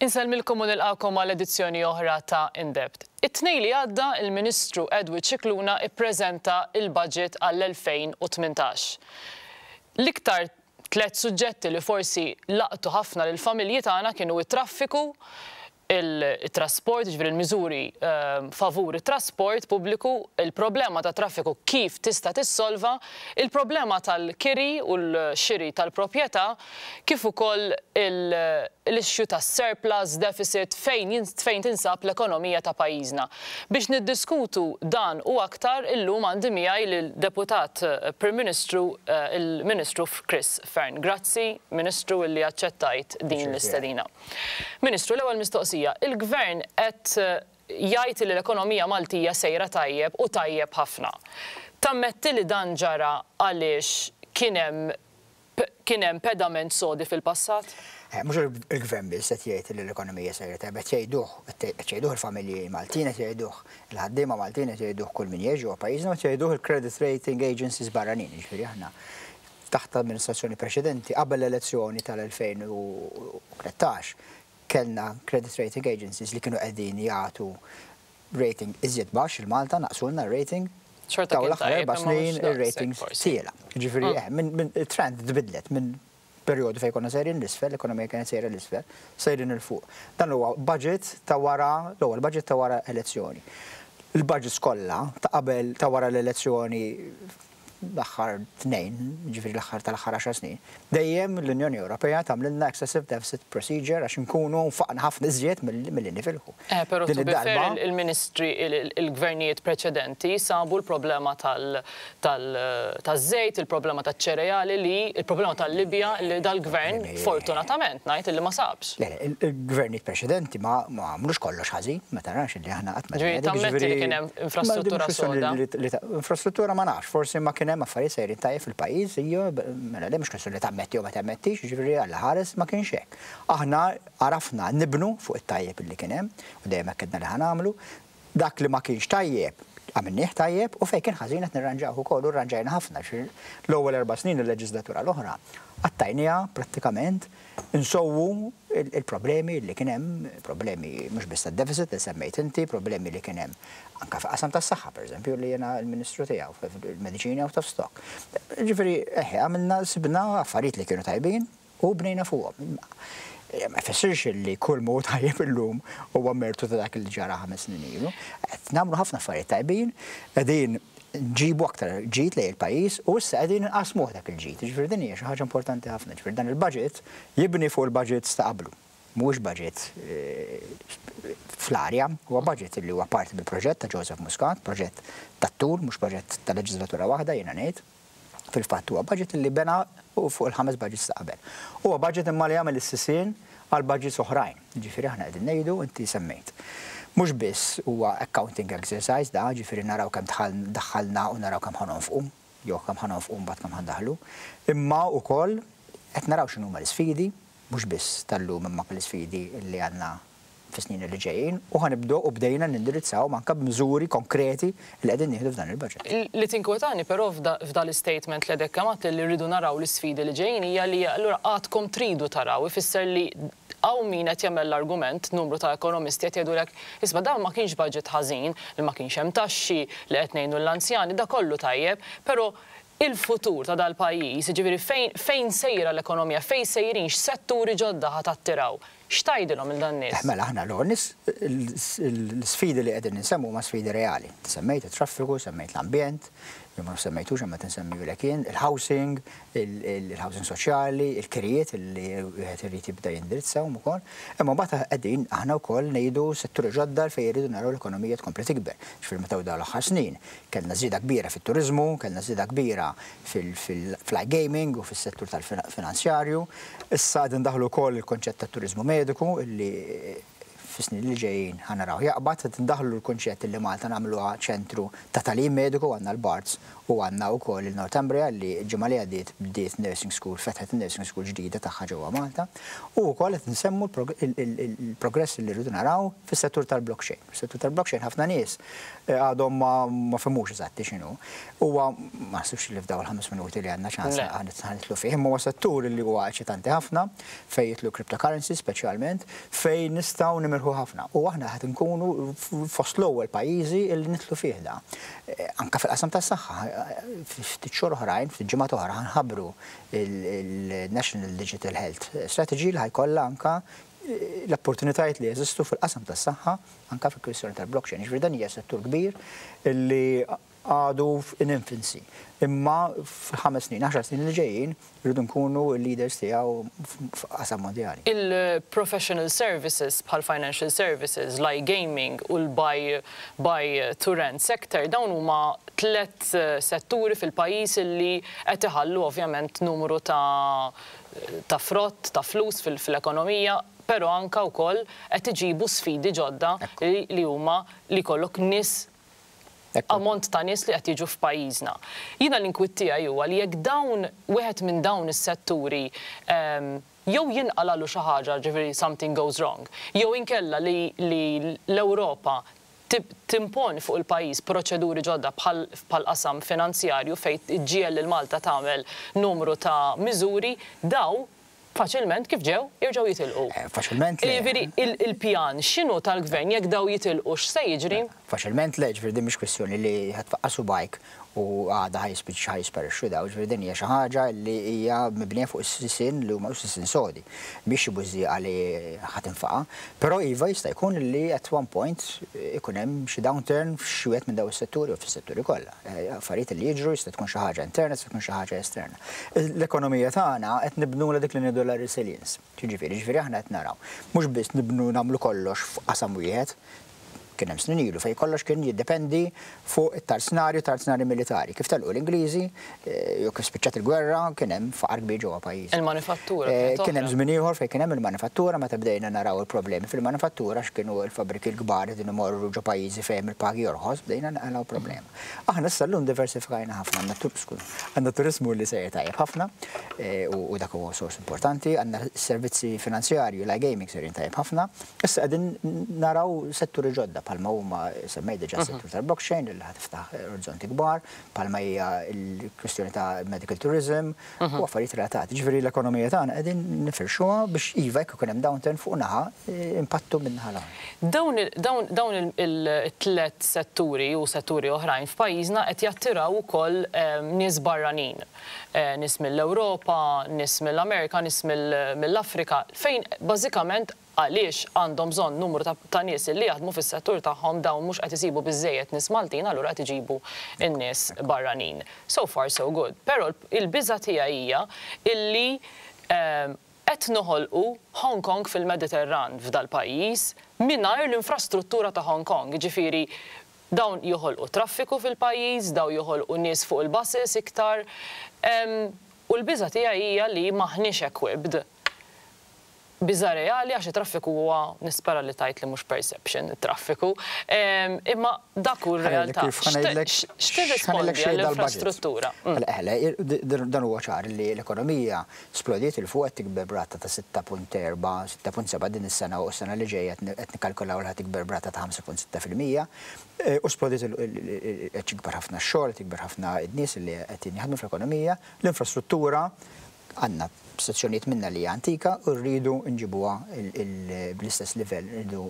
Insellmilkom u nilqagħkom għal edizzjoni oħra ta' In Depth. It-Tnejn li għadda il-Ministru Edward Scicluna ippreżenta l-budget għall-2018. L-iktar tlett suġġetti li forsi laqtu ħafna lill-familji tagħna kienu t-traffiku, il-trasport, jiġifieri l-miżuri favur it-trasport pubbliku, il-problema tat-traffiku kif tista' tissolva, il-problema tal-kiri u l-xiri tal-proprjetà, kif ukoll l-issue tas-surplus, deficit, fejn fejn tinsab l-ekonomija ta' pajjiżna. Biex niddiskutu dan u aktar illum għandi miegħi lil-Deputat Prim Ministru il-Ministru Chris Fearne. Grazzi Ministru illi aċċettajt din l-istedina. Ministru, l-ewwel mistoqsija, il-Gvern qed jgħid li l-ekonomija Maltija sejra tajjeb u tajjeb ħafna. Tammetti li dan ġara għaliex kien hemm kien hemm pedament sodi fil-passat? Mhux il-Gvern biss qed jgħid li l-ekonomija sejra tajjeb, qed jgħiduh, qed jgħiduh il-familji Maltin, qed jgħiduh il-ħaddiema Maltin, qed jgħiduh kull min jgħix ġewwa pajjiżna u qed jgħiduh il-credit rating agencies barranin, jiġifieri aħna taħt amministrazzjoni preċedenti, qabel l-elezzjoni tal-2013, kellna credit rating agencies li kienu qegħdin jagħtu rating iżjed baxx lil Malta, naqsulna r-rating. Xorta Dawn kien l-aħħar tajjeb erba' imma mhux snin daqshekk ir-ratings forsi. tiela. Jiġifieri eh, minn it-trend tbiddlet minn perjodu fejn konna sejrin l-isfel, l-ekonomija kienet sejra l-isfel, sejrin 'il fuq. Dan huwa budget ta' wara, l-ewwel budget ta' wara elezzjoni. Il-budgets kollha ta' qabel ta' wara l-elezzjoni l-aħħar tnejn, jiġifieri l-aħħar tal-aħħar għaxar snin, dejjem l-Unjoni Ewropea tagħmlilna excessive deficit procedure għax inkunu nfaqna ħafna iżjed milli nifilħu. Però Din to be fair, id-darba il-ministri, il-gvernijiet preċedenti sabu l-problema taż-żejt, il-problema taċ-ċereali li, il-problema tal-Libja li dal-gvern, fortunatament ngħid, illi ma sabx. Le, il-gvernijiet preċedenti ma għamlux kollox ħażin, ma tarax illi aħna qatt ma Ġifieri tammetti li kien hemm infrastruttura soda. Infrastruttura ma nafx, forsi ma kien hemm affarijiet sejrin tajjeb fil-pajjiż, ijjo, mela le mhux kwestjoni li tammetti jew ma tammettix, jiġifieri Alla ħares ma kienx hekk. Aħna għarafna nibnu fuq it-tajjeb illi kien hemm, u dejjem hekk għedna li ħa nagħmlu. Dak li ma kienx tajjeb, għamilnieh tajjeb, u fejn kien ħażin qed nirranġawh ukoll, u rranġajna ħafna. L-ewwel 4 snin il-leġislatura l-oħra qattajniha prattikament insowwu il-problemi li kien hemm, problemi mhux biss tad-deficit li semmejt inti, problemi li kien hemm anke fil-qasam tas-saħħa, pereżempju, li jiena l-Ministru tiegħu, il-mediċini out of stock. Ġifieri, eħe, għamilna sibna affarijiet li kienu tajbin u bnejna fuqhom. Ma jfissirx li kull mod tajjeb illum huwa mertu ta' dak li ġara 5 snin ilu. Qed nagħmlu ħafna affarijiet tajbin, qegħdin nġibu aktar ġid lejn il-pajjiż u issa qegħdin inqasmuh dak il-ġid. Ġifieri din hija xi ħaġa importanti ħafna. Ġifieri dan il-budget jibni fuq il-budgets ta' qablu. Mhuwiex budget fl-arja, huwa budget li huwa parti mill-proġett ta' Joseph Muscat, proġett tat-tul, mhux proġett ta' leġislatura waħda jiena ngħid. Fil-fatt huwa budget li bena fuq il-5 budgets ta' qabel. Huwa budget imma li jagħmel is-sisien għal budgets oħrajn. Ġifieri aħna qegħdin ngħidu, inti semmejt. Mhux biss huwa accounting exercise da, ġifieri naraw kemm daħħalna u naraw kemm ħanonfqu, jew kemm ħanonfqu mbagħad kemm ħandaħlu, imma wkoll qed naraw x'inhuma l-isfidi, mhux biss tal-lum imma l-isfidi li għandna fis-snin li ġejjin, u ħanibdew u bdejna nindirizzaw anke b'miżuri konkreti li qegħdin nieħdu f'dan il-budget. Li tinkwetani però f'dal statement li għadek kemm għedt li rridu naraw l-isfidi li ġejjin hija li allura għadkom tridu taraw, ifisser li hawn min qed jagħmel l-argument, numru ta' ekonomisti qed jgħidulek, isma' dan ma kienx budget ħażin, li ma kienx hemm taxxi, li qed ngħinu l-anzjani, da kollu tajjeb, però il-futur ta' dal-pajjiż, jiġifieri fejn sejra l-ekonomija, fejn sejrin, x'setturi ġodda ħa tattiraw, x'tgħidilhom il dan nies? Mela aħna l-ewwel l-sfidi li qegħdin insemmu huma sfidi reali. Semmejt it-traffiku, semmejt l-ambjent, jew ma semmejtux imma tinsemmihulek jien, il-housing, il-housing soċjali, il-kirijiet li wieħed irid jibda jindirizzahom ukoll. Imma mbagħad qegħdin aħna wkoll ngħidu setturi ġodda fejn jridu naraw l-ekonomija tkompli tikber. Ġifieri meta dawn l-aħħar snin kellna żieda kbira fit-turiżmu, kellna żieda kbira fil-iGaming u fis-settur tal-finanzjarju. Issa qegħdin daħlu wkoll il-konċett tat-turiżmu mediku illi fis-snin li ġejjin ħa naraw jaqbad. Qed indaħħlu l-kunċett li Malta nagħmluha ċentru ta' tagħlim mediku, għandna l-Barts u għandna wkoll il-Northumbria li l-ġimgħa li għaddiet bdiet nursing school, fetħet nursing school ġdida tagħha ġewwa Malta. U wkoll qed nsemmu l-progress li rridu naraw fis-settur tal-blockchain. Fis-settur tal-blockchain ħafna nies għadhom ma fehmux eżatti x'inhu. Huwa ma naħsibx li f'dawn il-5 minuti li għandna ċans ħa nidħlu fih, imma huwa settur li huwa eċitanti ħafna fejn jidħlu cryptocurrency speċjalment, fejn nistgħu nimirħu ħafna. U aħna qed nkunu fost l-ewwel pajjiżi li nidħlu fih da. Anka fil-qasam tas-saħħa, ftit xhur oħrajn, ftit ġimgħat oħra ħa nħabbru il-National Digital Health Strategy li ħa jkollha anka l-opportunitajiet li jeżistu fil-qasam tas-saħħa anka fil-kwistjoni tal-blockchain. Ġifieri dan hija settur kbir li għadu in infancy. Imma f'5 snin, 10 snin li ġejjin, rridu nkunu l-leaders tiegħu f'qasam mondjali. Il-professional services bħal financial services, l-iGaming u l-buy buy to rent sector, dawn huma tlet setturi fil-pajjiż li qed iħallu ovvjament numru ta' frott, ta' flus fil-ekonomija, pero anka wkoll qed iġibu sfidi ġodda li huma li jkollok nies, ammont ta' nies li qed jiġu f'pajjiżna. Jiena l-inkwiet tiegħi huwa li jekk dawn wieħed minn dawn is-setturi jew jinqalalu xi ħaġa, ġifieri something goes wrong, jew inkella li l-Ewropa timponi fuq il-pajjiż proċeduri ġodda bħal qasam finanzjarju fejn iġġiegħel lil Malta tagħmel numru ta' miżuri, dawn faċilment kif ġew jerġgħu jitilqu. Faċilment le. Jiġifieri il-pjan x'inhu tal-gvern jekk dawn jitilqu, x'se jiġri? Faċilment le, ġifieri din mhix kwestjoni li ħa tfaqqa' subgħajk u għada ħa jispiċċa ħa jisparixxu dawn, ġifieri din hija xi ħaġa li hija mibnija fuq is-sisien li huma sisien sodi, biex xi bużżieqa li ħa tinfaqa'. Però iva, jista' jkun li at one point ikun hemm xi downturn f'xi wieħed minn dawn is-setturi u fis-setturi kollha. Affarijiet li jiġru, jista' tkun xi ħaġa interna, jista' tkun xi ħaġa esterna. L-ekonomija tagħna qed nibnu dik li ngħidu la resilience. Ġifieri, ġifieri aħna qed naraw. Mhux biss nibnu nagħmlu kollox f'qasam wieħed. Kien hemm snin ilu fejn kollox kien jiddependi fuq it-tarznari, tarznari militari. Kif telqu l-Ingliżi, jew kif spiċċat il-gwerra, kien hemm faqar kbir ġewwa pajjiż. Il-manifattura. Kien hemm żmien ieħor fejn kien hemm il-manifattura, meta bdejna naraw il-problemi fil-manifattura, x'kienu l-fabbriki l-kbar din imorru ġo pajjiżi fejn il-pagi jorħos, bdejna naqalgħu problema. Aħna issa llum diversifikajna ħafna, għandna turismu li sejjer tajjeb ħafna u dak huwa sors importanti, għandna servizzi finanzjarju, l-iGaming sejrin tajjeb ħafna. Issa qegħdin naraw setturi ġodda bħalma huma, semmej diġà, settur tal-blockchain li ħa tiftaħ orizzonti kbar, bħalma hija l-kwistjoni ta' medical tourism u affarijiet relatati. Ġifieri l-ekonomija tagħna qegħdin nifirxuha biex iva, jekk ikun hemm downturn fuq naħa, impattu minn naħa l-oħra. Dawn il-tlet setturi u setturi oħrajn f'pajjiżna qed jattiraw ukoll nies barranin. Nies mill-Ewropa, nies mill-Amerika, nies mill-Afrika, fejn bażikament għaliex għandhom bżonn numru ta' nies li jaħdmu fis-settur tagħhom. Dawn mhux qed isibu biżejjed nies Maltin, allura qed iġibu n-nies barranin. So far so good. Però il-biża tiegħi hija illi qed noħolqu Hong Kong fil-Mediterran f'dal-pajjiż mingħajr l-infrastruttura ta' Hong Kong. Ġifieri dawn joħolqu traffiku fil-pajjiż, dawn joħolqu nies fuq il-buses iktar. U l-biża tiegħi hija li maħniex equipped. Biża reali għax it-traffiku huwa, nispera li tgħid li mhux perception it-traffiku, imma dak hu r-realtà. X'tirrispondi għall-infrastruttura? Dan huwa ċar li l-ekonomija splodiet 'il fuq, qed tikber b'rata ta' 6.4, 6.7 din is-sena u s-sena li ġejja qed nikkalkulaw li ħa tikber b'rata ta' 5.6%. U splodiet, qed tikber ħafna x-xogħol, tikber ħafna n-nies li qed jaħdmu fl-ekonomija, l-infrastruttura għandna sezzjonijiet minna li hija antika u rridu nġibuha bl-istess livell, rridu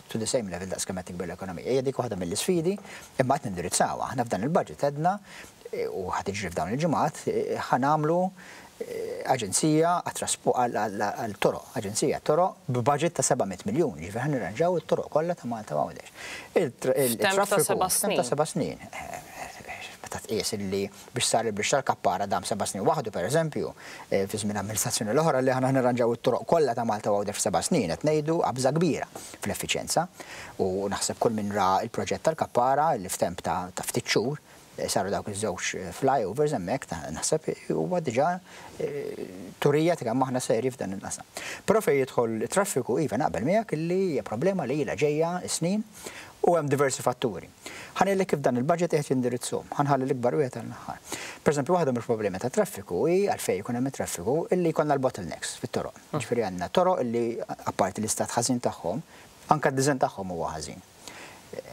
to the same level daqs kemm qed tikber l-ekonomija. Hija dik waħda mill-isfidi, imma qed nindirizzawha. Aħna f'dan il-budget għedna u ħa tiġri f'dawn il-ġimgħat, ħa nagħmlu aġenzija għal-toroq, aġenzija toroq b'budget ta' 700 miljun, ġifieri ħa nirranġaw it-toroq kollha ta' Malta u Għawdex. Il-traffiku ta' 7 snin. Meta tqies li biex sar il-bridge tal-Kappara dam 7 snin waħdu, per eżempju, fi żmien amministrazzjoni l-oħra, li aħna nirranġaw it-toroq kollha ta' Malta u Għawdex f'7 snin, qed ngħidu qabża kbira fl-effiċjenza. U naħseb kull min ra il-proġett tal-Kappara li f'temp ta' ftit xhur Saru dawk iż-żewġ flyovers hemmhekk naħseb huwa diġà turija ta' kemm aħna serji f'dan il-qasam. Però fejn jidħol it-traffiku, iva naqbel miegħek illi hija problema li ilha ġejja s-snin u hemm diversi fatturi. Ħa ngħidlek kif dan il-budget qiegħed jindirizzhom. Ħa nħalli l-ikbar wieħed għall-aħħar. Pereżempju, waħda mill-problemi tat-traffiku hi għalfejn ikun hemm it-traffiku illi jkollna l-bottlenecks fit-toroq. Jiġifieri għandna toroq illi apparti l-istat ħażin tagħhom, anke d-design tagħhom huwa ħażin.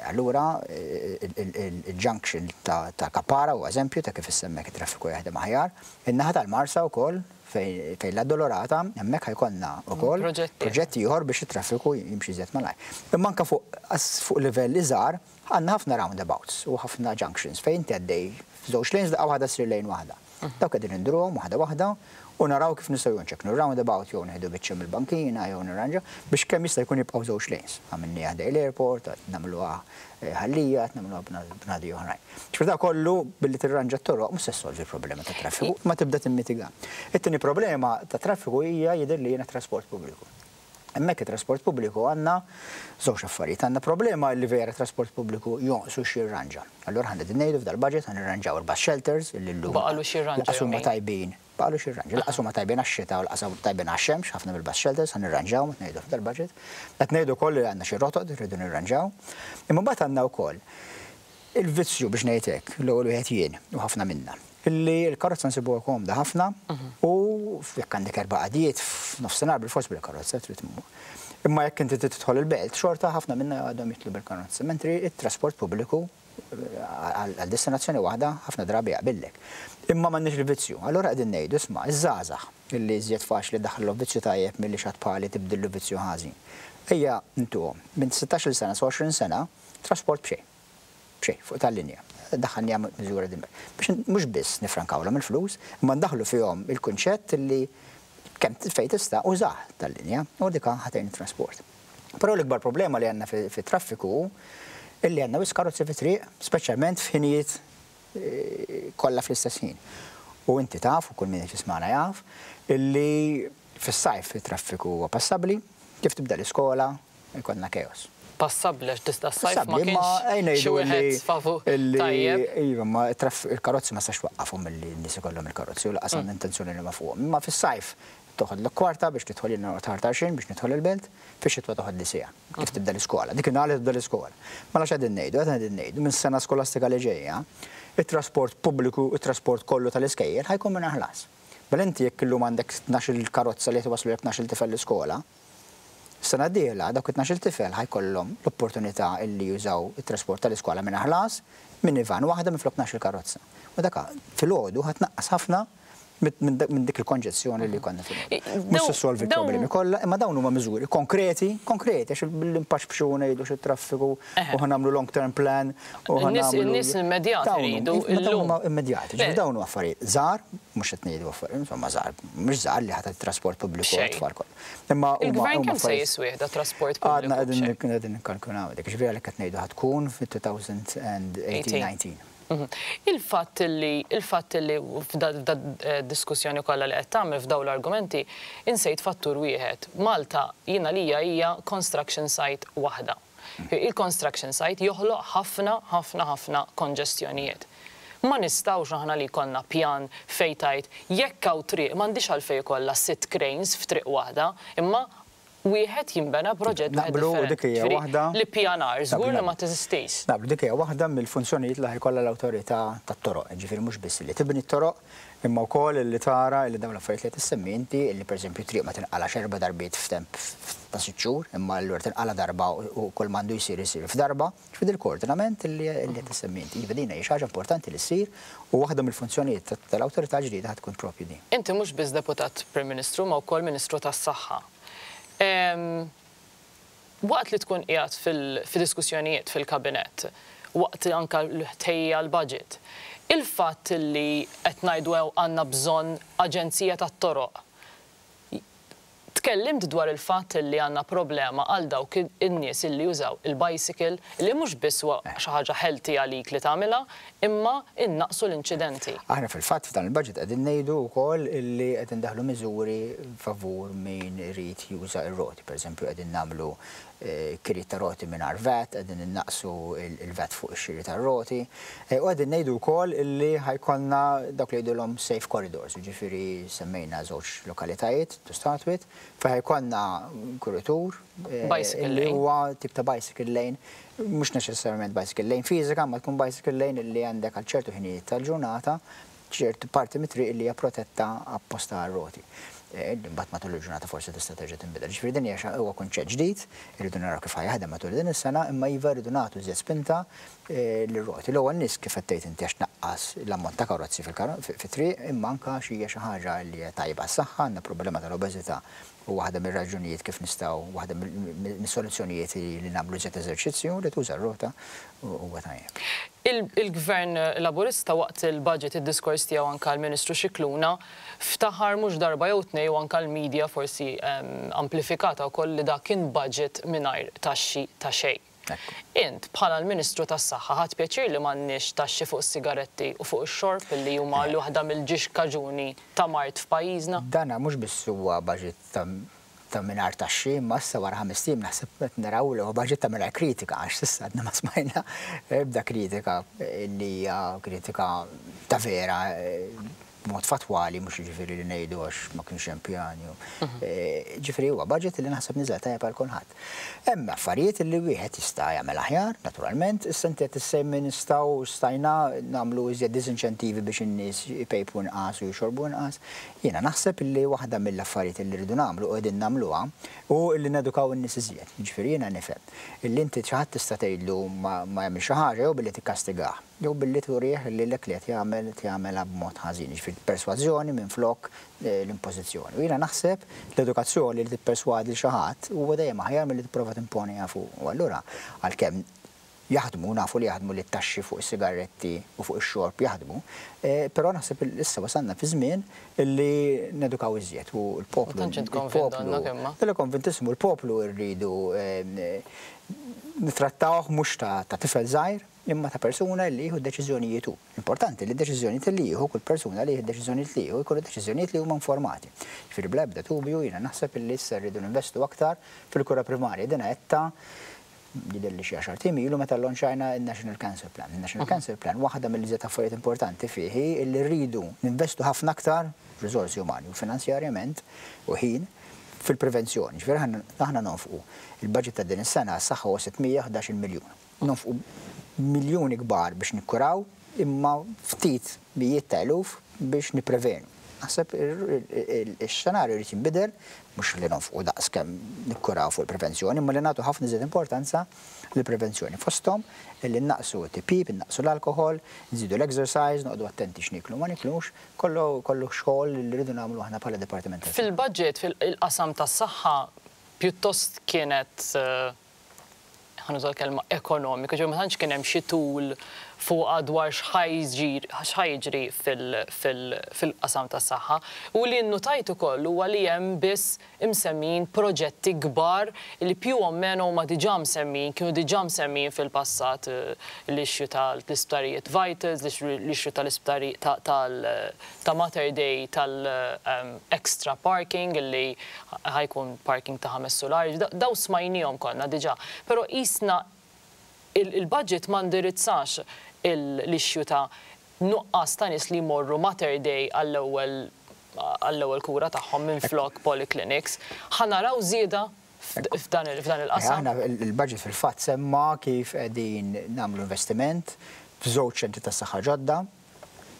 Allura il-junction ta' Kapara huwa eżempju ta' kif issa hemmhekk it-traffiku jaħdem aħjar. In-naħa tal-Marsa wkoll fejn l-Addolorata hemmhekk ħa jkollna wkoll proġett ieħor biex it-traffiku jimxi iżjed malajr. Imma anke fuq livell iżgħar għandna ħafna roundabouts u ħafna junctions fejn inti għaddej f'żewġ lanes daqqa waħda ssir lane waħda. Dawk qegħdin induruhom waħda waħda u naraw kif nistgħu jew nċekknu r-roundabout jew nieħdu biċċa mill-bankina jew nirranġaw biex kemm jista' jkun jibqgħu żewġ lanes. Għamilniha ħdejn l-airport, qed nagħmluha Ħal Lija, qed nagħmluha b'nadi oħrajn. Ġifieri dak kollu billi tirranġa t-toroq mhux se ssolvi l-problema tat-traffiku, imma tibda timmitiga. It-tieni problema tat-traffiku hija jidhirli jiena t-trasport pubbliku. Hemmhekk it-trasport pubbliku għandna żewġ affarijiet. Għandna problema li vera t-trasport pubbliku jonqsu x'jirranġa. Allura aħna qegħdin ngħidu f'dal-budget ħa nirranġaw il-bus shelters illi llum Baqalu x'jirranġa lanqas huma tajbin. Baqalu x'jirranġa. Lanqas huma tajbin għax-xita u lanqas huma tajbin għax-xemx, ħafna mill-bus shelters ħa nirranġawhom qed ngħidu f'dal-budget. Qed ngħidu wkoll li għandna xi rotot li rridu nirranġaw. Imma mbagħad għandna wkoll il-vizzju biex ngħid hekk, l-ewwel wieħed jien u ħafna minna, illi l-karozza nsibuha komda ħafna u jekk għandek erba' qadjiet f'nofsinhar bilfors bil-karozza trid tmur. Imma jekk inti trid tidħol il-belt, xorta ħafna minna għadhom jidħlu bil-karozza, mentri t-trasport pubbliku għal destinazzjoni waħda ħafna drabi jaqbillek. Imma m'għandniex il-vizzju. Allura qegħdin ngħidu, isma', iż-żgħażagħ illi iżjed faċli ddaħħlilhom vizzju tajjeb milli xi ħadd bħali tibdillu vizzju ħażin. Ejja ntuhom minn sittax-il sena sa 20 sena Trasport b'xejn. B'xejn, fuq tal-linja. Daħħalniha miżura din. Biex mhux biss nifrankawlhom il-flus, imma ndaħħlu fihom il-kunċett li kemm fejn tista' użah tal-linja u dik ħa tgħin it-trasport. Però l-ikbar problema li għandna fit-traffiku hu illi għandna wisq karozzi fit-triq, speċjalment f'ħinijiet kollha fl-istess ħin. U inti taf, u kull min qed jismagħna jaf, illi fis-sajf it-traffiku huwa passabbli, kif tibda l-iskola, Ikollna chaos. Passabbli għax tista' s-sajf ma kienx xi wieħed favur tajjeb. Iva, ma il-karozzi ma tistax twaqqafhom milli n-nies ikollhom il-karozzi u lanqas għandna intenzjoni li nwaqqfuhom. Imma fis-sajf toħodlok kwarta biex tidħol jiena noqgħod ħar tarxien biex nidħol il-belt, fix-xitwa toħodli siegħa kif tibda l-iskola. Dik in-nhar li tibda l-iskola. Mela x'qegħdin ngħidu? Qed qegħdin ngħidu minn sena skolastika li ġejja, it-trasport pubbliku, it-trasport kollu tal-iskejjel ħa jkun mingħajr ħlas. Mela inti jekk illum għandek tnax-il karozza li qed iwasslulek tnax-il tifel l-iskola, Is-sena d-dieħla, dawk it-tnax-il tifel ħa jkollhom l-opportunità illi jużaw it-trasport tal-iskola mingħajr ħlas, minivan waħda minflok tnax-il karozza. U dak filgħodu ħa tnaqqas ħafna minn dik il-konġezzjoni li jkollna filgħodu. Mhux se ssolvi l-problemi kollha, imma dawn huma miżuri konkreti, konkreti, għax billi npaxpxu u ngħidu xi traffiku u ħa nagħmlu long term plan u ħa nagħmlu. In-nies immedjati jridu illum. Dawn huma immedjati, ġifieri dawn huma affarijiet żgħar, mhux qed ngħidu affarijiet, insomma żgħar, mhux żgħar li ħa tagħti trasport pubbliku għat-tfal kollha. Imma huma Il-gvern kemm se jiswih da trasport pubbliku? Għadna qegħdin nikkalkulaw dik, ġifieri għalhekk qed ngħidu ħa tkun fit-2018-19. Il-fatt li il-fatt li f'da diskussjoni kollha li qed tagħmel f'dawn l-argumenti insejt fattur wieħed. Malta jien għalija hija construction site waħda. Il-construction site joħloq ħafna, ħafna, ħafna konġestjonijiet. Ma nistgħux aħna li jkollna pjan fejn tgħid jekk hawn triq m'għandhiex għalfejn ikollha sitt cranes f'triq waħda, imma wieħed jinbena proġett wieħed Naqblu u dik differenti. hija Ġifieri waħda l-ippjanar Naqblu, żgur li ma naqblu. teżistix. Naqblu, dik hija waħda mill-funzjonijiet li ħa jkollha l-awtorità tat-toroq, jiġifieri mhux biss li tibni t-toroq, imma wkoll li tara li dawn l-affarijiet li qed issemmi inti, li pereżempju triq ma tinqalax erba' darbiet f'temp ta' sitt xhur, imma allura tinqala' darba u kull m'għandu jsir isir f'darba. Ġifieri il-koordinament li qed issemmi inti. Iva din hija xi ħaġa importanti li ssir u waħda mill-funzjonijiet tal-awtorità l-ġdida ħa tkun proprju din. Inti mhux biss Deputat Prim Ministru imma wkoll Ministru tas-Saħħa. Waqt li tkun qiegħed fil-diskussjonijiet fil-Kabinett, waqt anke l-tħejjija għall-budget, il-fatt li qed ngħidu għandna bżonn aġenzija tat-toroq, Tkellimt dwar il-fatt li għandna problema għal dawk in-nies illi jużaw il-bicycle, li mhux biss huwa xi ħaġa healthy għalik li tagħmilha, imma innaqqsu l-inċidenti. Aħna fil-fatt f'dan il-budget qegħdin ngħidu wkoll illi qed indaħħlu miżuri favur min irid juża r-roti. Pereżempju, qegħdin nagħmlu kiri ta' roti mingħajr VAT, qegħdin innaqqsu il-VAT fuq ix-xiri tar-roti. U qegħdin ngħidu wkoll illi ħa jkollna dawk li jgħidulhom safe corridors, jiġifieri semmejna żewġ lokalitajiet to start with, fejn ħa jkollna kuritur illi huwa tip ta' bicycle lane, mhux neċessarjament bicycle lane fiżika, ma tkun bicycle lane illi għandek għal ċertu ħinijiet tal-ġurnata ċertu parti mit-triq li hija protetta apposta għar-roti. Imbagħad matul il-ġurnata forsi tista' terġa' tinbidel. Ġifieri din hija huwa kunċett ġdid, irridu naraw kif ħa jaħdem matul din is-sena, imma iva, rridu nagħtu iżjed spinta lir-roti. L-ewwel nies, kif qed tgħid inti, għax tnaqqas l-ammont ta' karozzi fit-triq, imma anke għax hija xi ħaġa li hija tajba għas-saħħa. Għandna problema tal-obeżità u waħda mir-raġunijiet kif nistgħu, waħda mis-soluzzjonijiet li nagħmlu iżjed eżerċizzju, li tuża r-rota huwa tajjeb. Il-Gvern Laburista waqt il-budget, id-diskors tiegħu, anke l-Ministru Scicluna ftaħar mhux darba jew tnej, u anke l-media forsi amplifikata wkoll, li dak kien budget mingħajr taxxi ta' xejn. Int bħala l-Ministru tas-Saħħa ħadt pjaċir li m'għandniex taxxi fuq is-sigaretti u fuq ix-xorb, li huma l waħda mill-ġiex kaġuni ta' mard f'pajjiżna? Dana mhux biss huwa budget ta' mingħajr taxxi, imma issa wara 5 ijiem naħseb qed naraw li huwa budget ta' mingħajr kritika, għax s'issa għadna ma smajna ebda kritika li hija kritika ta' vera b'mod fatwali, mhux jiġifieri li ngħidu għax ma kienx hemm pjani. Ġifieri huwa budget li naħseb niżel tajjeb għal kulħadd. Hemm affarijiet li wieħed jista' jagħmel aħjar, naturalment, issa inti qed issemmi nistgħu stajna nagħmlu iżjed disinċentivi biex in-nies ipejpu inqas u jxorbu inqas. Jiena naħseb li waħda mill-affarijiet li rridu nagħmlu u qegħdin nagħmluha u li nedukaw in-nies iżjed. Ġifieri jiena nifhem illi inti xi ħadd tista' tgħidlu ma jagħmilx xi ħaġa jew billi tikkastigah jew billi turih li l li qed jagħmel jagħmelha b'mod ħażin, ġifieri persważjoni minflok l-impożizzjoni. U jiena naħseb l-edukazzjoni, li tipperswadi lil xi ħadd, huwa dejjem aħjar milli tipprova timponiha fuq. U allura għalkemm jaħdmu, nafu li jaħdmu li t-taxxi fuq is-sigaretti u fuq ix-xorb jaħdmu, però naħseb issa wasalna fi żmien illi nedukaw iżjed u l-poplu. Il-poplu. Dalla konvintissimu, l-poplu rridu nitrattawh mhux ta' tifel żgħir, imma ta' persuna li jieħu deċiżjonijiet hu. Importanti li deċiżjonijiet li jieħu kull persuna li jieħu deċiżjonijiet li jieħu jkunu deċiżjonijiet li huma informati. Ġifieri bla ebda dubju jiena naħseb li issa rridu ninvestu aktar fil-kura primarja. Dina etta jidher li xi 10 ijiem ilu meta llonċajna il-National Cancer Plan. Il-National Cancer Plan, waħda mill-iżjed affarijiet importanti fih li rridu ninvestu ħafna aktar riżorsi umani u finanzjarjament u ħin fil-prevenzjoni. Ġifieri aħna nonfqu il-budget ta' din is-sena għas-saħħa huwa 611 miljun. Nonfqu miljuni kbar biex nikkuraw, imma ftit mijiet ta' eluf biex niprevenu. Naħseb il-xenarju jrid jinbidel, mhux li nonfqu daqs kemm nikkuraw fuq il-prevenzjoni, imma li nagħtu ħafna iżjed importanza lill-prevenzjoni. Fosthom illi naqsu t-tipjip, naqsu l-alkohol, nżidu l-exercise, noqogħdu attenti x'niklu ma niklux, kollu kollu xogħol li rridu nagħmlu aħna bħala dipartiment. Fil-budget, fil-qasam tas-saħħa, pjuttost kienet, ħa nuża l-kelma ekonomika, ġo ma tantx kien hemm xi tul fuqha dwar x'ħa jiġri fil-qasam tas-saħħa. U li nnutajt ukoll huwa li hemm biss imsemmijin proġetti kbar li più o meno huma diġà msemmijin, kienu diġà msemmijin fil-passat: l-issue tal-isptarijiet Vitals, l-issue tal-isptari ta' Mater Dei tal-extra parking li ħa jkun parking ta' 5 sulari, daw smajnihom konna diġà. Però jisna il-budget ma ndirizzax l-issue ta' nuqqas ta' nies li jmorru Mater Dei għall-ewwel kura tagħhom minn flok polyclinics. Ħa naraw żieda f'dan il-qasam? Aħna il-budget fil-fatt semma kif qegħdin nagħmlu investiment f'żewġ ċentri tas-saħħa ġodda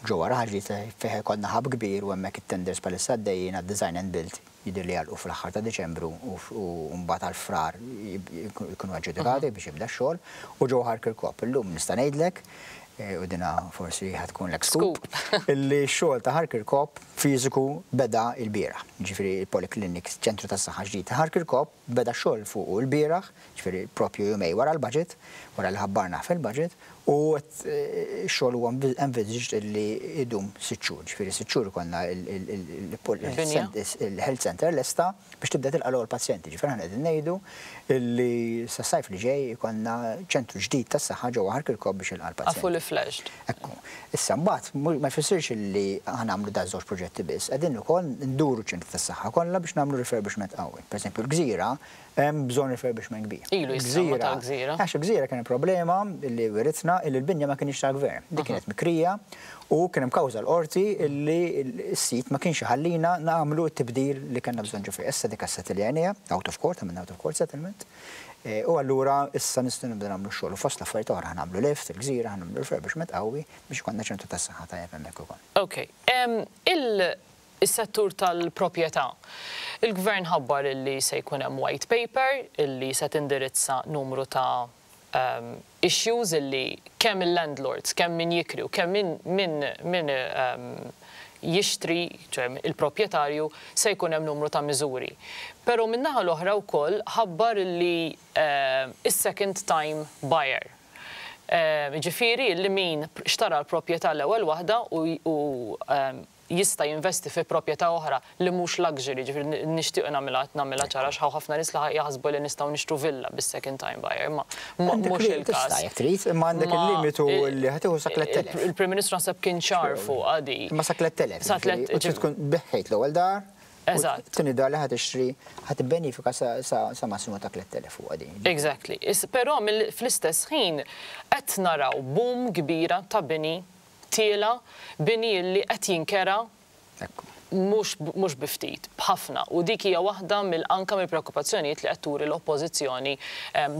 ġewwa Raħal Ġdid, fejn ikollna hub kbir, u hemmhekk it-tenders bħalissa għaddejjin għad-design and build, jidher li jagħlqu fl-aħħar ta' Diċembru u mbagħad għal Frar jkunu aġġudikati biex jibda x-xogħol, u ġewwa Ħal Kirkop. Illum nista' ngħidlek, u dina forsi ħa tkun l scoop, illi x-xogħol ta' Ħal Kirkop fiżiku beda l-bieraħ. Ġifieri il-Polyclinic, ċentru tas-saħħa ġdid ta' Ħal Kirkop, beda x-xogħol fuq il-bieraħ, ġifieri propju jumejn wara l-budget, wara li ħabbarna fil-budget. U x-xogħol huwa envisaged illi idum 6 xhur, ġifieri 6 xhur ikollna il-health center lesta biex tibda tilqa' l-ewwel pazjenti. Ġifieri aħna qegħdin ngħidu illi sas-sajf li ġej ikollna ċentru ġdid tas-saħħa ġewwa Ħal Kirkop biex jilqa' l-pazjenti. Fully fledged. Ekku. Issa mbagħad ma jfissirx illi aħna nagħmlu da żewġ proġetti biss, qegħdin ukoll nduru ċentri tas-saħħa kollha biex nagħmlu refurbishment qawwi. Pereżempju l-Gżira hemm bżonn refurbishment kbir. Ilu jissemma tal-Gżira. Għax il-Gżira kien problema li wiritna illi l-binja ma kienx tal-gvern. Dik kienet mikrija u kien hemm kawża l-qorti illi s-sit ma kienx iħallina nagħmlu t-tibdil li kellna bżonn ġo fih. Issa dik assettiljajniha out of court, għamilna out of court settlement. U allura issa nistgħu nibda nagħmlu x-xogħol. U fost l-affarijiet oħra ħa nagħmlu lift, il-Gżira, ħa nagħmlu refurbishment qawwi biex ikollna ċentru tas-saħħa tajjeb hemmhekk ukoll. Ok. Is-settur tal-proprjetà. Il-gvern ħabbar illi se jkun hemm white paper illi se tindirizza numru ta' issues illi kemm il-landlords, kemm min jikri u kemm min jixtri, ċe il-proprjetarju, se jkun hemm numru ta' miżuri. Però min-naħa l-oħra wkoll ħabbar illi is-second time buyer. Ġifieri li min xtara l-proprjetà l-ewwel waħda u jista' jinvesti fi proprjetà oħra li mhux luxury, ġifieri nixtieq nagħmilha ċara x'hawn ħafna nies li jaħsbu li nistgħu nixtru villa bis-second time buyer, ma mhux il-każ. Tista' jekk trid, imma għandek il-limitu li ħa tieħu sa 3000. Il-Prim Ministru naħseb kien ċar fuq għadi. Imma sa 3000. Sa 3000. U trid tkun biegħt l-ewwel dar. Eżatt. Tieni dar li ħa tixtri ħa tibbenifika sa massimu ta' 3000 fuq għadi. Exactly. Però fl-istess ħin qed naraw boom kbira ta' bini tiela, bini li qed jinkera mhux bi ftit, b'ħafna. U dik hija waħda mill anka mill-preokkupazzjonijiet li qed turi l-oppożizzjoni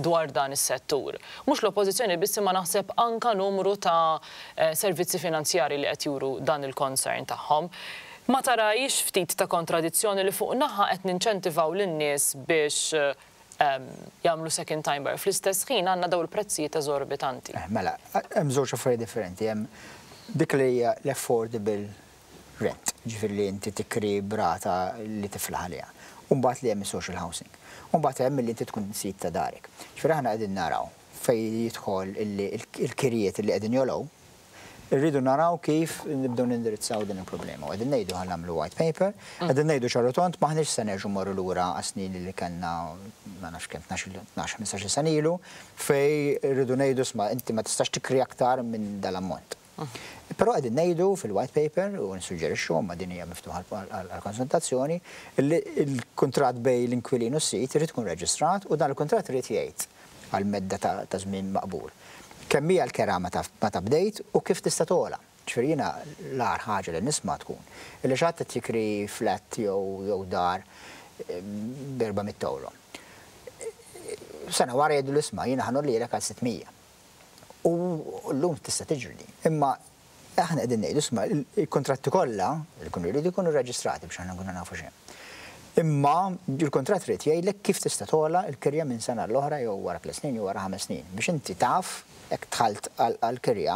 dwar dan is-settur. Mhux l-oppożizzjoni biss imma naħseb anka numru ta' servizzi finanzjari li qed juru dan il-concern tagħhom. Ma tarajx ftit ta' kontradizzjoni li fuq naħa qed ninċentivaw lin-nies biex jagħmlu second time buyer? Fl-istess ħin għandna daw il-prezzijiet eżorbitanti. Mela, hemm żewġ affarijiet differenti. Hemm dik li hija l-affordable rent, ġifieri li inti tikri b'rata li tiflaħ għaliha. U mbagħad li hemm social housing. U mbagħad hemm li inti tkun sid ta' darek. Ġifieri aħna qegħdin naraw fejn jidħol il-kirjiet li qegħdin jogħlew, irridu naraw kif nibdew nindirizzaw din il-problema. U qegħdin ngħidu ħa nagħmlu white paper, qegħdin ngħidu ċar u tond m'aħniex se nerġgħu morru lura għas-snin li kellna, ma nafx kemm, 12-15 sena ilu, fejn irridu ngħidu, isma', inti ma tistax tikri aktar minn dal-ammont. Però qegħdin ngħidu fil-white paper u nissuġġerixxu, ma din hija miftuħa għall-konsultazzjoni, li l-kuntratt bejn l-inkwilin u s-sit irid ikun reġistrat u dan il-kuntratt irid jgħid għal medda ta' żmien maqbul kemm hija l-kera meta bdejt u kif tista' togħla. Ġifieri jiena l-agħar ħaġa li nisma' tkun illi xi ħadd qed jikri flat jew dar b'400 euro. Sena wara jgħidu, "Isma', jiena ħa ngħollilek għal 600." U llum tista' tiġri. Imma aħna qegħdin ngħidu, isma', il-kontratti kollha li jkunu jridu jkunu reġistrati biex aħna nkunu nafu xejn. Imma il-kontratt irid jgħidlek kif tista' togħla l-kirja minn sena l-oħra jew wara 3 snin jew wara 5 snin biex inti taf jekk dħalt għal-kirja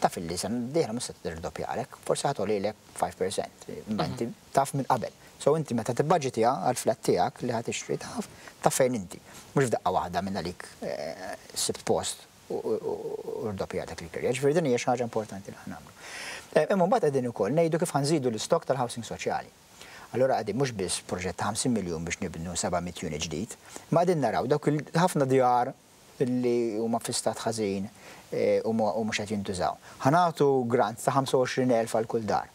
taf illi sena dieħla mhux se tirdoppjalek, forsi ħa togħlilek 5%, imma inti taf minn qabel. So inti meta tibbaġitja għal-flat tiegħek li ħa tixtri taf fejn inti. Mhux f'daqqa waħda minn għalik sibt post u rdoppjatek il-kirja. Ġifieri din hija xi ħaġa importanti li ħa nagħmlu. Imma mbagħad qegħdin ukoll ngħidu kif ħa nżidu l-istok tal-housing soċjali. Allora qegħdin mhux biss proġett ta' 50 miljun biex nibnu 700 unit ġdid, ma qegħdin naraw dawk ħafna djar li huma fi stat ħażin u mhux qed jintużaw. Ħa nagħtu grant ta' 25,000 għal kull dar.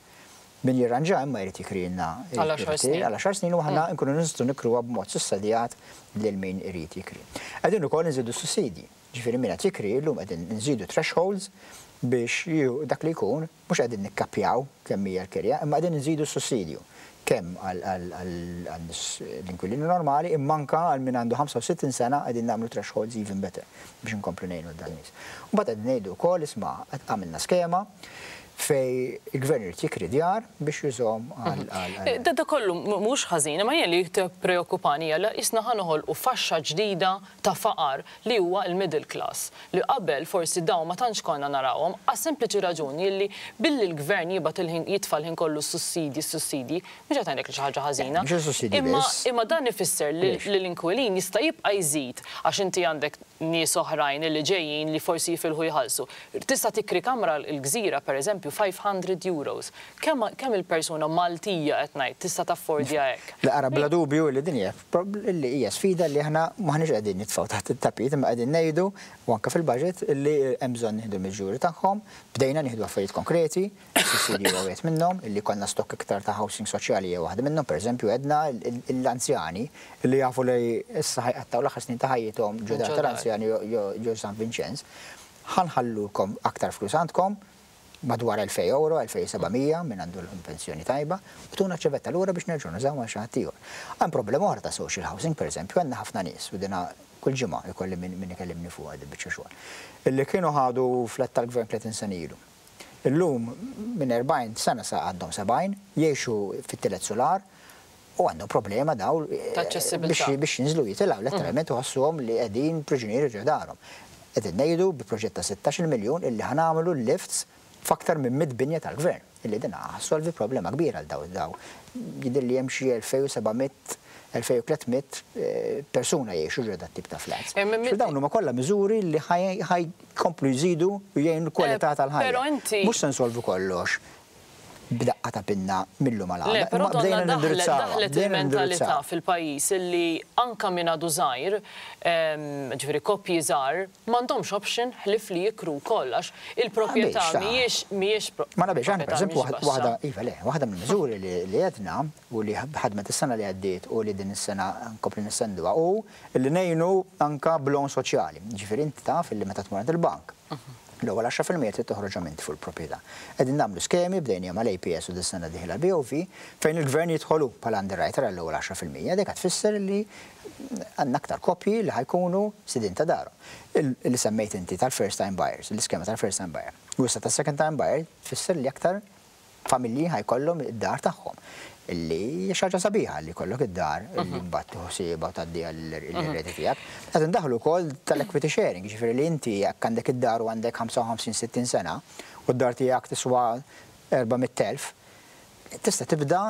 Min jirranġa imma jrid jikrilna għal 10 snin. Għal 10 snin u aħna nkunu nistgħu nikruha b'mod sussidjat lil min irid jikri. Qegħdin ukoll nżidu sussidji. Ġifieri min qed jikri llum qegħdin nżidu thresholds biex dak li jkun mhux qegħdin nikkappjaw kemm hija l-kirja, imma qegħdin nżidu sussidju kemm għal l-inkwilini normali imma anka għal min għandu 65 sena qegħdin nagħmlu thresholds even better biex nkomplu ngħinu dan nies. U mbagħad qegħdin ngħidu wkoll, isma', għamilna skema. Fejn il-gvern irid jikri djar biex jużahom għal. Da kollu mhux ħażin, imma jien li tippreokkupani hija li qisna ħa noħolqu faxxa ġdida ta' faqar li huwa l-middle class, li qabel forsi dawn ma tantx konna narawhom għas-sempliċi raġuni li billi l-gvern jibgħat il-ħin jitfa' l-ħin kollu s-sussidji s-sussidji, mhux qed ngħidlek li xi ħaġa ħażina, imma imma dan ifisser li l-inkwilin jista' jibqa' jżid għax inti għandek nies oħrajn li ġejjin li forsi jifilħu jħallsu. Tista' tikri kamra l-Gżira, per eżempju, 500 euros. Kemm kemm il-persuna Maltija qed ngħid tista' taffordja hekk? Le ara bla dubju li din hija li hija sfida li aħna m'aħniex qegħdin nitfgħu taħt it-tapit imma qegħdin ngħidu u anke fil-budget li hemm bżonn nieħdu l-miżuri tagħhom. Bdejna nieħdu affarijiet konkreti. Is-sussidji huwa wieħed minnhom, illi jkollna stokk iktar ta' housing soċjali hija waħda minnhom. Pereżempju, għedna l-anzjani li jafu li issa ħa jqattgħu l-aħħar snin ta' ħajjithom ġo dar tal-anzjani ġo San Vinċenz, ħa nħallulkom aktar flus għandkom, madwar 2,000 ewro, 2,700 min għandu l-pensjoni tajba, u tuna ċ-ċavetta lura biex nerġgħu nużawha għal xi ħadd ieħor. Hemm problema oħra ta' social housing, pereżempju, għandna ħafna nies, u dina kull ġimgħa jkolli min ikellimni fuqha dil-biċċa xogħol, illi kienu ħadu flat tal-gvern 30 sena ilu. Illum minn 40 sena sa għandhom 70, jgħixu fit-tielet sular u għandhom problema dawn biex jinżlu jitilgħu, letteralment iħossuhom li qegħdin priġunieri ġo darhom. Qegħdin ngħidu bi proġett ta' 16-il miljun illi ħa nagħmlu lifts f'aktar minn 100 binja tal-Gvern, illi din ħa ssolvi problema kbira għal dawn dawn. Jidhirli hemm xi 2,700 2,300 persuna jgħixu ġo dat-tip ta' flats. Dawn huma kollha miżuri li ħa jkomplu jżidu u jgħinu l-kwalità tal-ħajja. Mhux se nsolvu kollox b'daqqa ta' pinna mil-lum għal għada. Però donna daħlet il-mentalità fil-pajjiż illi anke min għadu żgħir, ġifieri koppji żgħar, m'għandhomx option ħlief li jikru wkoll għax il-proprjetà mhijiex mhijiex Ma naqbilx, aħna pereżempju waħda, iva le, waħda mill-miżuri li għedna u li ħadmet is-sena li għaddiet u li din is-sena nkomplu nistenduha hu li ngħinu anke b'loan soċjali. Jiġifieri inti taf illi meta tmur għand il-bank, l-ewwel 10% trid toħroġhom inti fuq il-proprjetà. Qegħdin nagħmlu skemi, bdejniha mal-APS u dis-sena dieħla l-BOV, fejn il-Gvern jidħol hu bħala underwriter għall-ewwel 10%. Dik qed tfisser li għandna aktar koppji li ħa jkunu sidien ta' darhom. Li semmejt inti tal-first time buyers, l-iskema tal-first time buyer. U issa tas-second time buyer tfisser li aktar familji ħa jkollhom id-dar tagħhom. Illi hija xi ħaġa sabiħa li jkollok id-dar illi mbagħad tieħu ħsiebha u tgħaddiha lill-eredi tiegħek. Qed indaħħlu wkoll tal-equity sharing, jiġifieri li inti jekk għandek id-dar u għandek 55, 60 sena u d-dar tiegħek tiswa 400,000, tista' tibda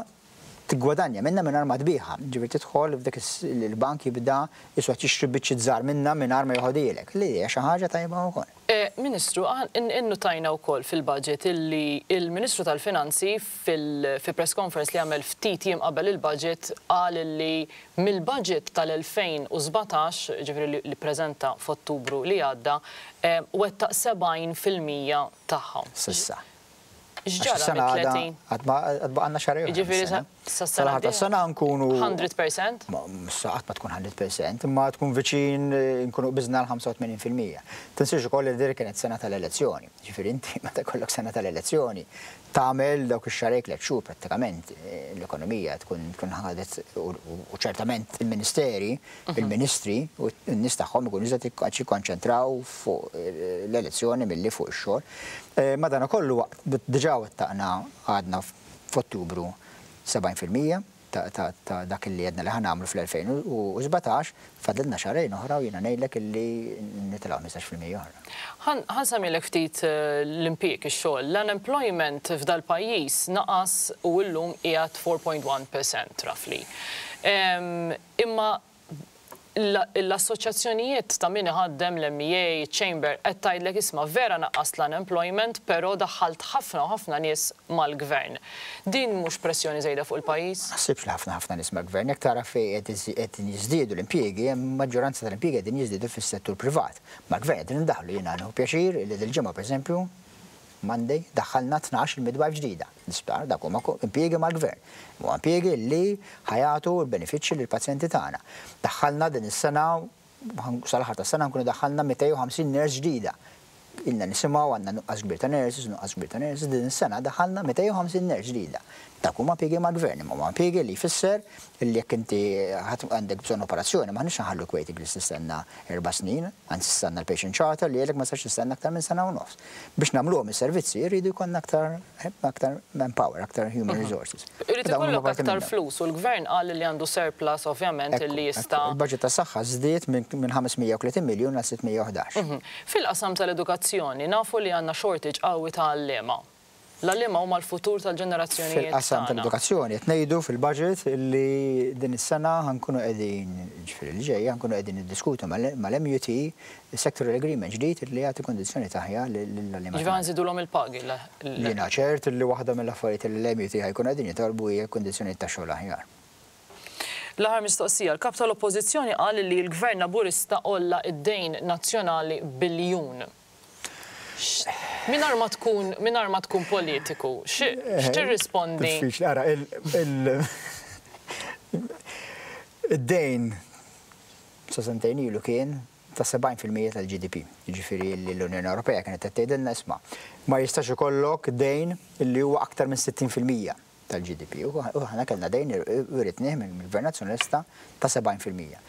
tiggwadanja minnha mingħajr ma tbigħha. Jiġifieri tidħol f'dik il-bank jibda jiswa tixtri biċċiet żgħar minnha mingħajr ma joħodhielek, li hija xi ħaġa tajba wkoll. Ministru, innutajna wkoll fil-budget illi l-Ministru tal-Finanzi fi press conference li għamel ftit jiem qabel il-budget qal illi mill-budget tal-2017, jiġifieri li ppreżenta f'Ottubru li għadda, wettaq 70% tagħha. S'issa. X'ġara mit-30? Għad baqgħalna xahar ieħor. Jiġifieri sas-sena d-dieħla. Sas-sena nkunu. 100%? Issa qatt ma tkun 100%, imma tkun viċin nkunu qbiżna l-85%. Tinsiex ukoll li din kienet sena tal-elezzjoni. Jiġifieri inti meta jkollok sena tal-elezzjoni tagħmel dawk ix-xahrejn tliet xhur prattikament l-ekonomija tkun tkun ħadet u ċertament il-ministeri, il-ministri u n-nies tagħhom ikunu iżjed jikkonċentraw fuq l-elezzjoni milli fuq ix-xogħol. Madankollu diġà wettaqna għadna f'Ottubru 70% ta' dak li għedna li ħa nagħmlu fl-2017, fadlilna xahrejn oħra u jiena ngħidlek illi nitilgħu 15% oħra. Ħa nsemmilek ftit l-impjieg, ix-xogħol. L-unemployment f'dal-pajjiż naqas u llum qiegħed 4.1% roughly. Imma l-assoċjazzjonijiet ta' min iħaddem, l-MEA, iċ-Chamber, qed tgħidlek isma' vera naqqast l-unemployment però daħħalt ħafna u ħafna nies mal-gvern. Din mhux pressjoni żejda fuq il-pajjiż? Ma naħsibx li ħafna ħafna nies mal-gvern. Jekk tara fejn qegħdin jiżdiedu l-impjiegi, hemm maġġoranza tal-impjiegi qegħdin jiżdiedu fis-settur privat. Mal-gvern qegħdin indaħħlu, jiena nieħu pjaċir li dil-ġimgħa pereżempju, Monday, daħħalna 12 il-midwife ġdida l-isptar, dak huma impjiegi mal-gvern. Huma impjiegi li ħa jagħtu l-benefiċċji lill-pazjenti tagħna. Daħħalna din is-sena, sal-aħħar tas-sena nkunu daħħalna 250 nurse ġdida. Ilna nisimgħu għandna nuqqas kbir ta' nurses, nuqqas kbir ta' nurses, din is-sena daħħalna 250 nurse ġdida. Dak huma impjiegi mal-gvern, imma huma impjiegi li jfisser li jekk inti għandek bżonn operazzjoni m'aħniex nħalluk waiting list tistenna 4 snin, anzi issa għandna l-patient charter li jgħidlek ma tistax tistenna aktar minn sena u nofs. Biex nagħmluhom is-servizzi jridu jkollna aktar aktar manpower, aktar human resources. Irid ikollok aktar flus u l-gvern qal li għandu surplus ovvjament li jista'. Il-budget tas-saħħa żdied minn 530 miljun għal 611. Fil-qasam tal-edukazzjoni nafu li għandna shortage qawwi ta' għalliema. L-għalliema huma l-futur tal-ġenerazzjonijiet Fil-qasam tagħna. tal-edukazzjoni qed ngħidu fil-budget li din is-sena ħa nkunu qegħdin, jiġifieri li ġejja, ħa nkunu qegħdin niddiskutu mal-MUT sectoral agreement ġdid li jagħti kundizzjonijiet aħjar lill-għalliema Jiġifieri ħa nżidulhom il-pagi Jiena ċert li waħda mill-affarijiet li l-MUT ħa jkunu qegħdin jitolbu hija kundizzjonijiet ta' xogħol aħjar. L-aħħar mistoqsija, l-Kap tal-Oppożizzjoni qal li l-Gvern Laburista għolla d-dejn nazzjonali biljun. Mingħajr ma tkun mingħajr ma tkun politiku, x'tirrispondi? Diffiċli, ara, id-dejn sa sentejn ilu kien ta' 70% tal-GDP. Jiġifieri li l-Unjoni Ewropea kienet qed tgħidilna isma' ma jistax ikollok dejn li huwa aktar minn 60% tal-GDP. U aħna kellna dejn wiritnieh mill-Gvern Nazzjonalista ta' 70%.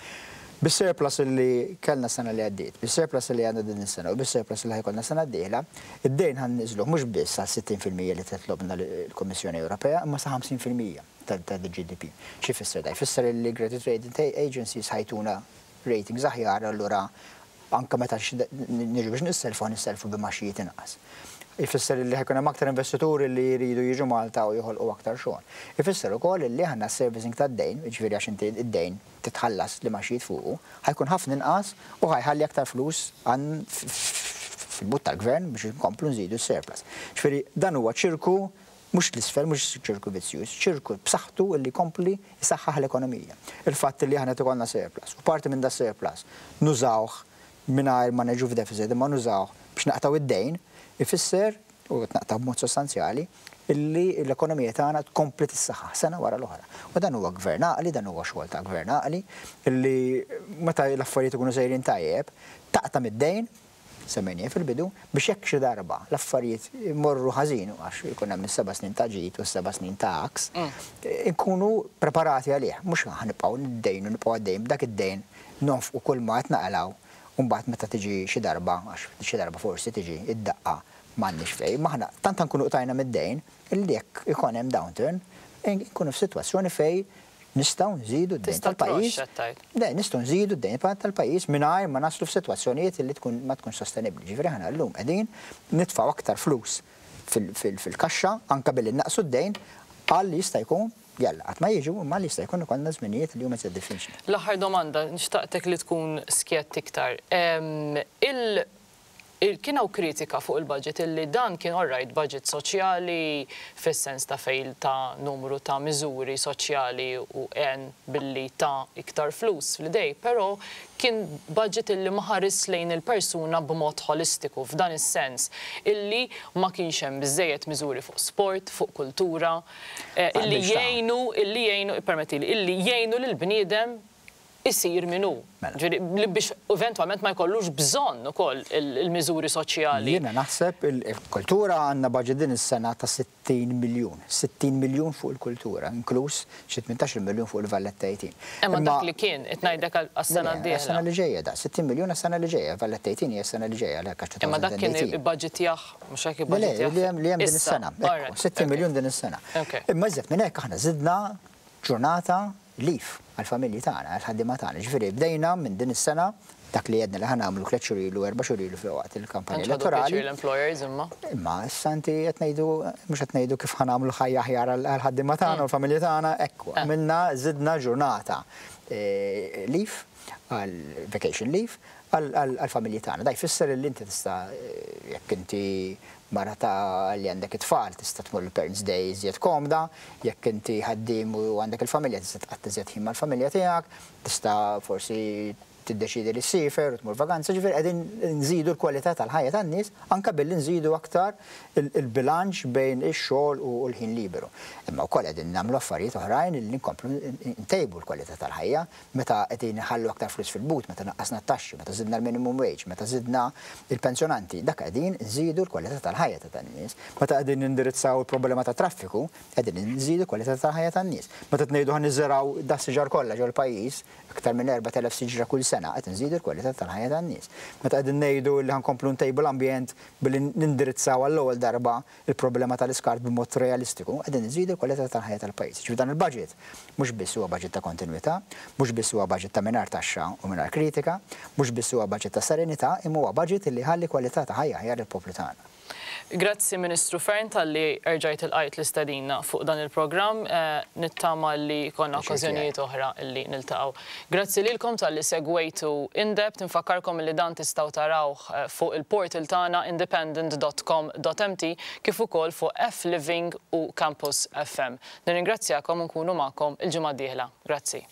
Bis-surplus li kellna s-sena li għaddiet, bis-surplus li għandna din is-sena u bis-surplus li ħa jkollna s-sena d-dieħla, id-dejn ħa nniżżluh mhux biss għal 60% li titlobna l-Kummissjoni Ewropea, imma sa 50% tal-GDP. X'ifisser da? Jfisser li credit rating agencies ħa jtuna ratings aħjar, allura anke meta niġu biex nisselfu, nisselfu b'imgħaxijiet inqas. Ifisser li ħa jkun hemm aktar investituri li jridu jiġu Malta u joħolqu aktar xogħol. Ifisser ukoll li aħna servicing tad-dejn, jiġifieri għax inti id-dejn titħallas l-imgħaxijiet fuqu, ħa jkun ħafna inqas u ħa jħalli aktar flus fil-but tal-gvern biex inkomplu nżidu s-surplus. Ġifieri dan huwa ċirku mhux l-isfel, mhux ċirku vizzjuż, ċirku b'saħħtu li jkompli jsaħħaħ l-ekonomija. Il-fatt li aħna ikollna surplus u parti minn da surplus nużawh mingħajr ma neġu f'deficit imma nużawh biex naqtaw id-dejn, ifisser u tnaqtaw b'mod sostanzjali illi l-ekonomija tagħna tkompli tissaħħaħ sena wara l-oħra. U dan huwa gvern għaqli, dan huwa xogħol ta' gvern għaqli, illi meta l-affarijiet ikunu sejrin tajjeb, taqta' mid-dejn, semmejnieh fil-bidu, biex jekk xi darba l-affarijiet imorru ħażin, għax ikun hemm is-7 snin ta' ġid u s-7 snin ta' għaks, inkunu preparati għalih, mhux ħa nibqgħu niddejnu, nibqgħu għaddejjin b'dak id-dejn nonfqu kull ma qed naqalgħu u mbagħad meta tiġi xi darba, għax xi darba forsi tiġi id-daqqa m'għandniex fejn, ma aħna tant nkunu qtajna mid-dejn illi jekk ikun hemm downturn, nkunu f'sitwazzjoni fejn nistgħu nżidu d-dejn tal-pajjiż. Le, nistgħu nżidu d-dejn tal-pajjiż mingħajr ma naslu f'sitwazzjonijiet li tkun ma tkunx sostenibbli. Ġifieri aħna llum qegħdin nitfgħu aktar flus fil-kaxxa anke billi naqsu d-dejn għal li jista' jkun jalla qatt ma jiġu imma li jista' jkun ikollna żminijiet li huma iżjed diffiċli. L-aħħar domanda, nixtaqtek li tkun skjett iktar. Il Kien hawn kritika fuq il-budget illi dan kien alright budget soċjali fis-sens ta' fejn ta numru ta' miżuri soċjali u għen billi ta iktar flus fl-idej, però kien budget illi ma ħarisx lejn il-persuna b'mod ħolistiku f'dan is-sens illi ma kienx hemm biżżejjed miżuri fuq sport, fuq kultura, illi jgħinu, illi jgħinu, ippermettili, illi jgħinu lill-bniedem isir min hu. Ġifieri li biex eventwalment ma jkollux bżonn ukoll il-miżuri soċjali. Jiena naħseb il-kultura għandna budget din is-sena ta' 60 miljun. 60 miljun fuq il-kultura, inkluż xi 18 miljun fuq il-Valletta 18. Imma dak li kien, qed ngħidlek għas-sena d-dieħla. Għas-sena li ġejja da, 60 miljun għas-sena li ġejja, Valletta 18 hija s-sena li ġejja għalhekk għax 2018. Imma dak kien ibbaġitjah, mhux hekk ibbaġitjah? Le, le, li hemm din is-sena. 60 miljun din is-sena. Imma iżjed minn hekk aħna żidna ġurnata leave għall-familji tagħna, għall-ħaddiema tagħna. Jiġifieri bdejna minn din is-sena dak li għedna li ħa nagħmlu tliet xhur ilu, erba' xhur ilu waqt il-kampanja elettorali. Tantx ħadu l-employers imma. Imma issa inti qed ngħidu mhux qed ngħidu kif ħa nagħmlu ħajja aħjar għall-ħaddiema tagħna u l-familji tagħna, hekk għamilna żidna ġurnata leave għal vacation leave għall-familji tagħna. Da jfisser li inti tista' jekk inti mara ta' li għandek it-tfal tista' tmur il-Parents Day iżjed komda, jekk inti ħaddiem u għandek il-familja tista' tqatta' iżjed ħin mal-familja tiegħek, tista' forsi tiddeċiedi li ssiefer u tmur vaganza, ġifieri qegħdin nżidu l-kwalità tal-ħajja tan-nies anke billi nżidu aktar il-bilanċ bejn ix-xogħol u l-ħin liberu. Imma wkoll qegħdin nagħmlu affarijiet oħrajn li nkomplu ntejbu l-kwalità tal-ħajja meta qegħdin inħallu aktar flus fil-but, meta naqqasna t-taxxi, meta żidna l-minimum wage, meta żidna l-pensjonanti, dak qegħdin nżidu l-kwalità tal-ħajja ta' tan-nies. Meta qegħdin nindirizzaw il-problema tat-traffiku, qegħdin nżidu l-kwalità tal-ħajja tan-nies. Meta qed ngħidu ħa niżirgħu das-siġar kollha ġol-pajjiż, Aktar minn 4,000 siġra kull sena, qed inżidu l-kwalità tal-ħajja tan-nies. Meta qegħdin ngħidu li ħa nkomplu ntejbu l-ambjent billi nindirizzaw għall-ewwel darba l-problema tal-iskart b'mod realistiku, qegħdin inżidu l-kwalità tal-ħajja tal-pajjiż. Jiġifieri dan il-budget mhux biss huwa budget ta' kontinwità, mhux biss huwa budget ta' mingħajr taxxa u mingħajr kritika, mhux biss huwa budget ta' serenità, imma huwa budget li jħalli kwalità ta' ħajja aħjar lill-poplu tagħna. Grazzi Ministru Fearne talli erġajt ilqajt l-istedina fuq dan il-programm. Nittama li jkollna okkażjonijiet oħra li niltaqgħu. Grazzi lilkom talli segwejtu In-Depth. Infakkarkom li dan tistgħu tarawh fuq il-portal tagħna independent dot com dot mt kif ukoll fuq F-Living u Campus FM. Nirringrazzjakom u nkunu magħkom il-ġimgħa d-dieħla. Grazzi.